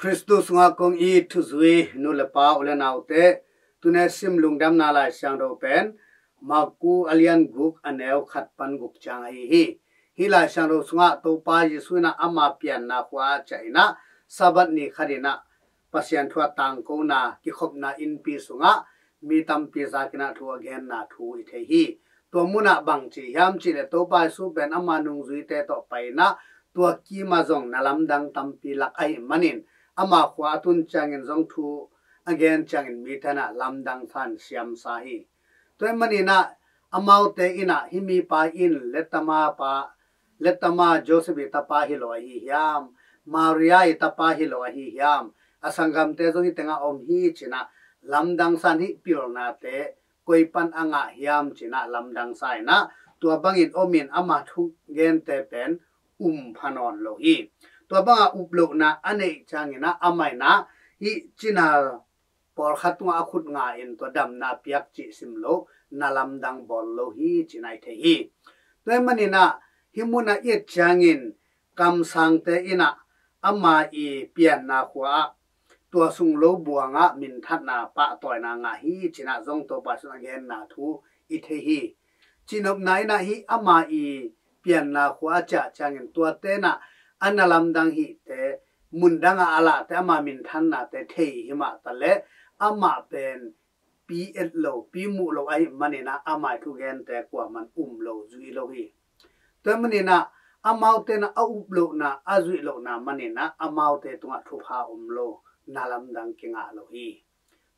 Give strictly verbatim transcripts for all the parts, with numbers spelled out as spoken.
Khristu sungah kong it thuzui nu le pa, u le naute, tuni sim lungdamna Lai Siangtho pen Marku a lian guk, a neu khat pan guk ciang ahi hi. Hih Lai Siangtho sungah Topa Jesu in ah ama pianna khua ah ciah in ah, Sabbath ni khat in ah Pasian thu a tangkona kikhopna innpi sungah mi tampi zak in ah thu a genna thu i thei hi. Tua munah bang ci hiam cih leh, Topa Jesu pen ama nungzuite tawh pai in ah, tua kim ah zong na lamdang tampi lak ahih manin, ama khua a tun ciangin zong thu a gen ciangin mite in ah lamdang sa in siamsa hi. Tua ahih manin ah amaute in ah, hih mipa in Letama pa, Letama Joseph i tapa hi lo ahi hiam, Maria i tapa hi lo ahi hiam, a sanggamte zong hih tengah om hi ci in ah lamdang sa in, hih pilnate koi pan a ngah hiam ci in ah lamdang sa in ah, tua bangin om in ama thugente pen um pha nawn lo hi. Tua banga up lohna a neih ciangin ah amah in ah hih cina pawlkhat tungah a khut nga in tua damna piak cih sim lo, na lamdang bawl lo hi ci in ah i thei hi. Tua ahih manin ah hih munah i et ciangin kamsangte in ah ama i pianna khua ah tua sung lo buangah minthanna pahtawina ngah hi ci in ah zong Topa Jesu in a genna thu i thei hi. Cihnopna in ah hih ama i pianna khua a ciah ciangin tuate in ah a na lamdang hihte, mundang ah a lahte, ama minthannate thei hi mah ta leh, amah pen pi et lo, pi muh lo ahih manin ah ama i thugente kuaman um lo, zui lo hi. Tua ahih manin ah amaute in ah a up lohna, a zuih lohna manin ah amaute tungah thupha om lo, na lamdang kingah lo hi.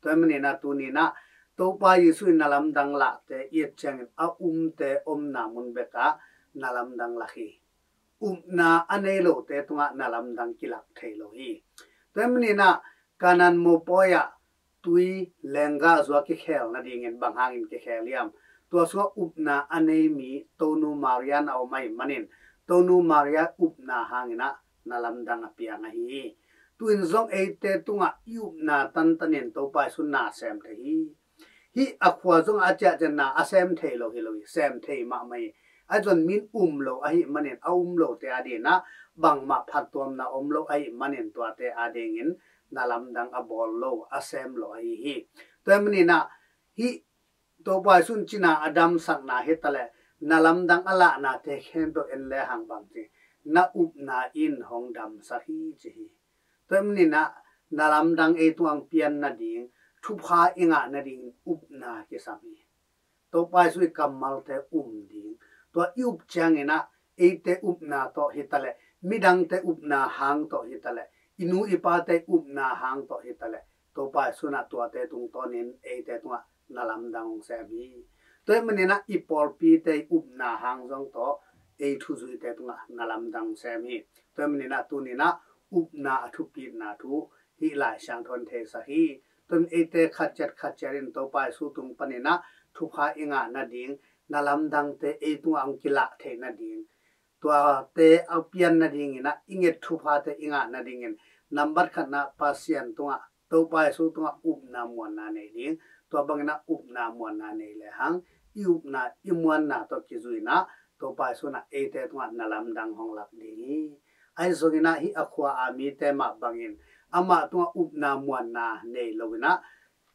Tua ahih manin ah tuni in ah Topa Jesu in na lamdang lahte i et ciangin a umte omna mun bekah na lamdang lak hi. Upna a nei lote tungah na lamdang kilak thei lo hi. Tua ahih manin ah Kanan mopawi ah tui lenggah zuak kikhel nadingin bang hangin kikhel hiam? Tua sungah upna a nei mi Tonu Maria in a om ahih manin, Tonu Maria upna hangin ah na lamdang a piang ahi hi. Tu-in zong eite tungah i upna tantanin Topa Jesu in na sem thei hi. Hih a khua zong a ciah ciangin na a sem thei lo hi lo hi, sem thei mahmah hi. Ahi zongin min um lo ahih manin, a um lote adingin ah bangmah phattuamna om lo ahih manin, tuate adingin na lamdang a bawl lo, a sem lo ahi hi. Tua ahih manin ah hih Topa Jesu in cina a damsakna hi ta leh, na lamdang a lahnate khempeuh en lehang bang ci, na upna in hong damsak hi ci hi. Tua ahih manin ah na lamdang ei tungah hong pian nading, thupha i ngah nadingin upna kisam hi. Topa Jesu i kammalte um ding, tua i up ciangin ah eite upna tawh hi ta leh, midangte upna hang tawh hi ta leh, i nu i pate upna hang tawh hi ta leh, Topa Jesu in ah tuate tungtawnin eite tungah na lamdang hong sem hi. Tua ahih manin ah i pawlpite i upna hang zong tawh ei thuzuite tungah na lamdang hong sem hi. Tua ahih manin ah tuni in ah upna a thupitna thu hih Lai Siangtho in theisak hi. Tua ahih manin eite khat ciat khat ciat in Topa Jesu tung panin ah thupha i ngah nading, na lamdangte ei tungah hong kilah theih nading, tuate a pian nadingin ah i nget thuphate i ngah nadingin, nambat khatna Pasian tungah, Topa Jesu tungah upna muanna nei ding. Tua bangin ah upna muanna nei lehang, i upna i muanna tawh kizui in ah Topa Jesu in ah eite tungah na lamdang hong lak ding hi. Ahi zongin ah hih a khua a mite mah bangin amah tungah upna muanna nei lo in ah,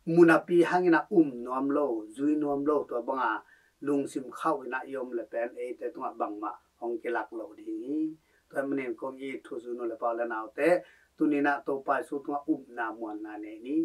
munapi hangin ah um nuam lo, zui nuam lo, tua banga lungsim khauh in ah i om leh pen eite tungah bangmah hong kilak lo ding hi. Tua ahih manin kong it thuzui nu le pa, u le naute, tuni in ah Topa Jesu tungah upna muanna nei ni.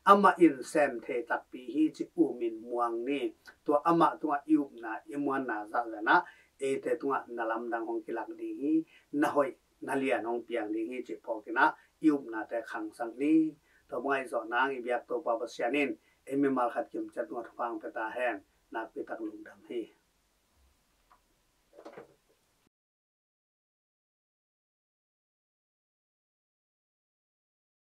Amah in sem thei takpi hi ci-in um in muang ni. Tua amah tungah i upna i muanna zahzah in ah eite tungah na lamdang hong kilak ding hi. Na hoih na lian hong piang ding hi cih phawk in ah i upnate khangsak ni. Tua banga i zawh nang i biak Topa Pasian in ei mimal khat kimciat tungah thupha hong pia ta hen. Nakpi tak lungdam hi.